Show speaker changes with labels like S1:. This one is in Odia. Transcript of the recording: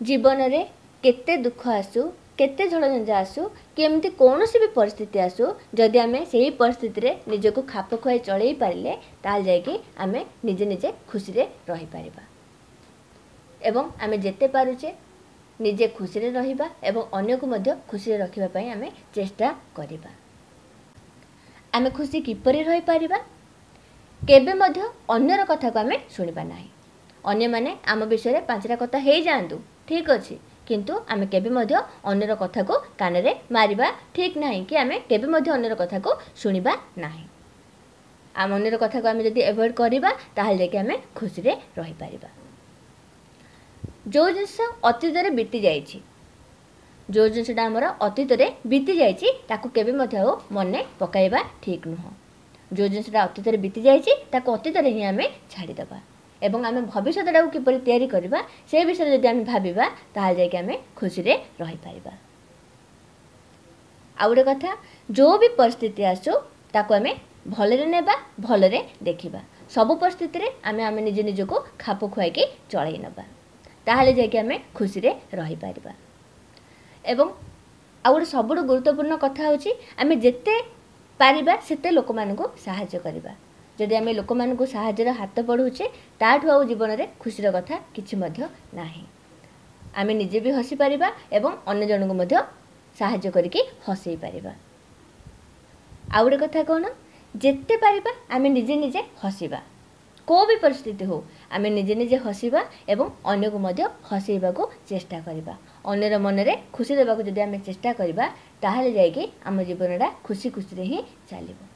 S1: ଜୀବନରେ କେତେ ଦୁଃଖ ଆସୁ, କେତେ ଝଡ଼ଝଞ୍ଜା ଆସୁ, କି ଏମିତି କୌଣସି ବି ପରିସ୍ଥିତି ଆସୁ, ଯଦି ଆମେ ସେହି ପରିସ୍ଥିତିରେ ନିଜକୁ ଖାପ ଖୁଆଇ ଚଳେଇ ପାରିଲେ, ତାହେଲେ ଯାଇକି ଆମେ ନିଜେ ନିଜେ ଖୁସିରେ ରହିପାରିବା। ଏବଂ ଆମେ ଯେତେ ପାରୁଛେ ନିଜେ ଖୁସିରେ ରହିବା ଏବଂ ଅନ୍ୟକୁ ମଧ୍ୟ ଖୁସିରେ ରଖିବା ପାଇଁ ଆମେ ଚେଷ୍ଟା କରିବା। ଆମେ ଖୁସି କିପରି ରହିପାରିବା? କେବେ ମଧ୍ୟ ଅନ୍ୟର କଥାକୁ ଆମେ ଶୁଣିବା ନାହିଁ। ଅନ୍ୟମାନେ ଆମ ବିଷୟରେ ପାଞ୍ଚଟା କଥା ହେଇଯାଆନ୍ତୁ, ଠିକ୍ ଅଛି, କିନ୍ତୁ ଆମେ କେବେ ମଧ୍ୟ ଅନ୍ୟର କଥାକୁ କାନରେ ମାରିବା ଠିକ୍ ନାହିଁ, କି ଆମେ କେବେ ମଧ୍ୟ ଅନ୍ୟର କଥାକୁ ଶୁଣିବା ନାହିଁ। ଆମ ଅନ୍ୟର କଥାକୁ ଆମେ ଯଦି ଆଭଏଡ଼ କରିବା, ତାହେଲେ ଯାଇକି ଆମେ ଖୁସିରେ ରହିପାରିବା। ଯେଉଁ ଜିନିଷ ଅତୀତରେ ବିତି ଯାଇଛି, ଯେଉଁ ଜିନିଷଟା ଆମର ଅତୀତରେ ବିତି ଯାଇଛି, ତାକୁ କେବେ ମଧ୍ୟ ଆଉ ମନେ ପକାଇବା ଠିକ୍ ନୁହଁ। ଯେଉଁ ଜିନିଷଟା ଅତୀତରେ ବିତି ଯାଇଛି, ତାକୁ ଅତୀତରେ ହିଁ ଆମେ ଛାଡ଼ିଦେବା ଏବଂ ଆମେ ଭବିଷ୍ୟତଟାକୁ କିପରି ତିଆରି କରିବା ସେ ବିଷୟରେ ଯଦି ଆମେ ଭାବିବା, ତାହେଲେ ଯାଇକି ଆମେ ଖୁସିରେ ରହିପାରିବା। ଆଉ ଗୋଟେ କଥା, ଯେଉଁ ବି ପରିସ୍ଥିତି ଆସୁ ତାକୁ ଆମେ ଭଲରେ ନେବା, ଭଲରେ ଦେଖିବା। ସବୁ ପରିସ୍ଥିତିରେ ଆମେ ନିଜେ ନିଜକୁ ଖାପ ଖୁଆଇକି ଚଳେଇ ନେବା, ତାହେଲେ ଯାଇକି ଆମେ ଖୁସିରେ ରହିପାରିବା। ଏବଂ ଆଉ ଗୋଟେ ସବୁଠୁ ଗୁରୁତ୍ୱପୂର୍ଣ୍ଣ କଥା ହେଉଛି, ଆମେ ଯେତେ ପାରିବା ସେତେ ଲୋକମାନଙ୍କୁ ସାହାଯ୍ୟ କରିବା। ଯଦି ଆମେ ଲୋକମାନଙ୍କୁ ସାହାଯ୍ୟର ହାତ ବଢ଼ାଉଛେ, ତାଠୁ ଆଉ ଜୀବନରେ ଖୁସିର କଥା କିଛି ମଧ୍ୟ ନାହିଁ। ଆମେ ନିଜେ ବି ହସିପାରିବା ଏବଂ ଅନ୍ୟ ଜଣଙ୍କୁ ମଧ୍ୟ ସାହାଯ୍ୟ କରିକି ହସେଇ ପାରିବା। ଆଉ ଗୋଟେ କଥା କ'ଣ? ଯେତେ ପାରିବା ଆମେ ନିଜେ ନିଜେ ହସିବା। କେଉଁ ବି ପରିସ୍ଥିତି ହେଉ, ଆମେ ନିଜେ ନିଜେ ହସିବା ଏବଂ ଅନ୍ୟକୁ ମଧ୍ୟ ହସେଇବାକୁ ଚେଷ୍ଟା କରିବା। ଅନ୍ୟର ମନରେ ଖୁସି ଦେବାକୁ ଯଦି ଆମେ ଚେଷ୍ଟା କରିବା, ତାହେଲେ ଯାଇକି ଆମ ଜୀବନଟା ଖୁସି ଖୁସିରେ ହିଁ ଚାଲିବ।